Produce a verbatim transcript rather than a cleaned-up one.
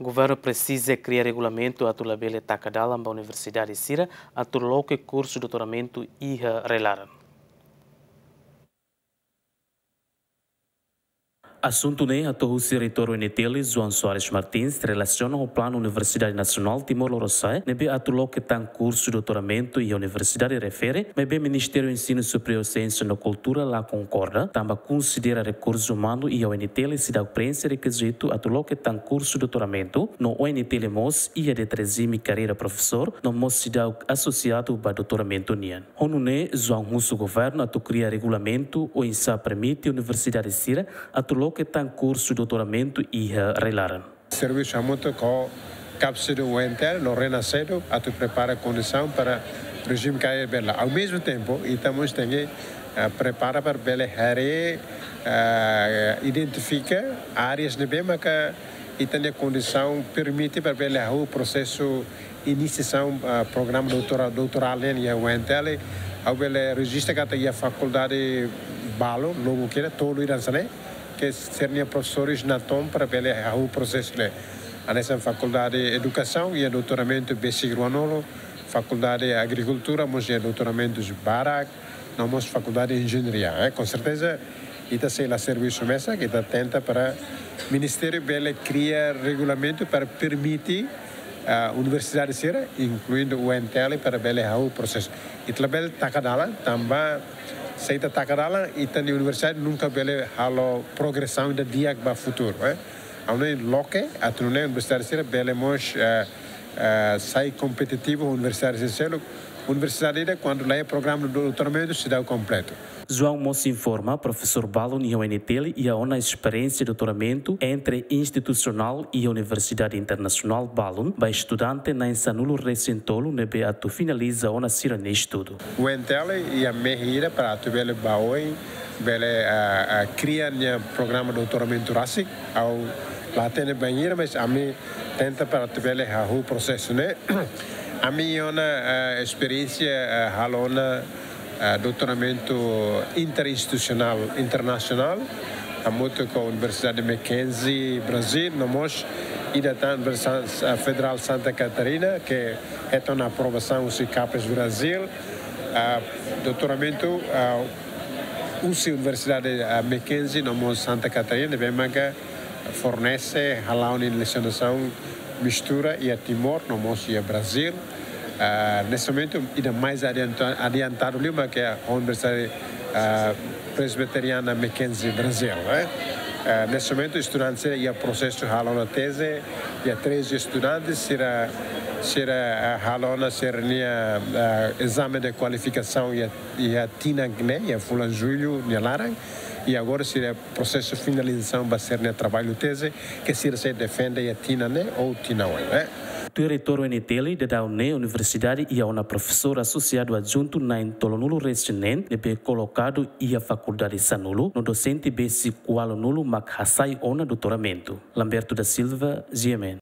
Governu presiza kria regulamentu atu labele taka dalan ba universidade sira atu loke kursu doutoramentu iha rai-laran. Asuntu ne'e hato'o husi Reitór U N T L, João Soares Martins, relasiona ho planu Universidade Nasionál Timor Lorosa'e ne'ebé atu loke tan kursu doutoramentu iha universidade refere, maibé Ministériu Ensinu Superiór, Siénsia no Kultura la konkorda, tanba konsidera rekursu umanu iha U N T L seidauk preenxe rekizitu atu loke tan kursu doutoramentu, no U N T L mós iha de'it rejime karreira profesór, no mós seidauk asosiadu ba doutoramentu nian. Ho nune'e, João husu governu atu kria regulamentu oinsá permite universidade sira atu loke tan kursu doutoramentu iha rai-laran. Servisu hamutuk ho KAPSEDU, U N T L no RENASCEDU atu prepara kondisaun para rejime karreira bele. Ao mesmo tempo, ita mós tenke, eh, prepara para bele haree, eh, identifika áreas ne'ebé maka ita-nia kondisaun permite para bele hahú prosesu inisiasaun, ah, programa doutora-, doutorál nian iha U N T L. Ha'u bele rejista katak iha fakuldade balun, lobu kira, tolu ida hanesan ne'e, ke sira-nia profesores natoon para bele hahú prosesu ne'e. Hanesan Fakuldade Edukasaun iha doutoramentu besik ruanulu, Fakuldade Agrikultura mós iha doutoramentus barak, no mós Fakuldade Enjeñaria, eh. Com certeza, ita sei la servisu mesak, ita tenta para Ministériu bele kria regulamentu para permite, ah, universidade sira, inkluindu U N T L, para bele hahú prosesu. Ita labele taka dalan, tanba se ita taka dalan, ita-nia universidade nunka bele halo progresaun ida di'ak ba futuru, eh. Ha'u hanoin loke, atu nune'e universidade sira bele mós, eh, eh, sai kompetitivu universidade sira seluk. Universidade ida, kuandu laiha programa doutoramentu, seidauk kompletu. João mós informa, profesór balun iha U N T L iha ona esperiénsia doutoramentu entre-institusionál iha universidade internasionál balun ba estudante na'in sanulu-resin-tolu ne'ebé atu finaliza ona sira-nia estudu. U N T L iha mehi ida para atu bele ba oin, bele, ah, ah, kria nia programa doutoramentu rasik. Ha'u la hatene bainhira, mas ami tenta para atu bele hahú prosesu ne'e. Ami iha ona, eh, esperiénsia, eh, halo ona, eh, doutoramentu interinstitusionál, internasionál, hamutuk ho Universidade Mackenzie, Brazil, no mós ida tan Universidade, eh, Federál Santa Catarina, ke hetan ona aprovasaun husi CAPES Brazil, eh, doutoramentu, eh, husi Universidade, eh, Mackenzie, no mós Santa Catarina, ne'ebé maka fornese hala'o nia lesionasaun mistura iha Timor, no mós iha Brazil. Ah, neste momento, ida mais adianta-, adiantadu liu mak iha Universidade, ah, Presbiteriana Mackenzie Brazil, eh. Ah, neste momento, estudante sira iha prosesu halo ona teze, iha treze estudantes, sira, sira, ah, halo ona sira-nia, ah, ezame de kualifikasaun iha, iha tinan ne'e, iha fulan Jullu nia laran, i agora sira prosesu finalizasaun ba sira-nia traballu teze, ke sira sei defende iha tinan ne'e ou tinan oin, eh. Tuir Reitór U N T L, daudaun ne'e universidade iha ona profesór asosiadu adjuntu na'in tolunulu-resin-neen ne'ebé kolokadu iha fakuldade sanulu, no dosente besik ualunulu mak hasai ona doutoramentu. Lamberto da Silva, G M N.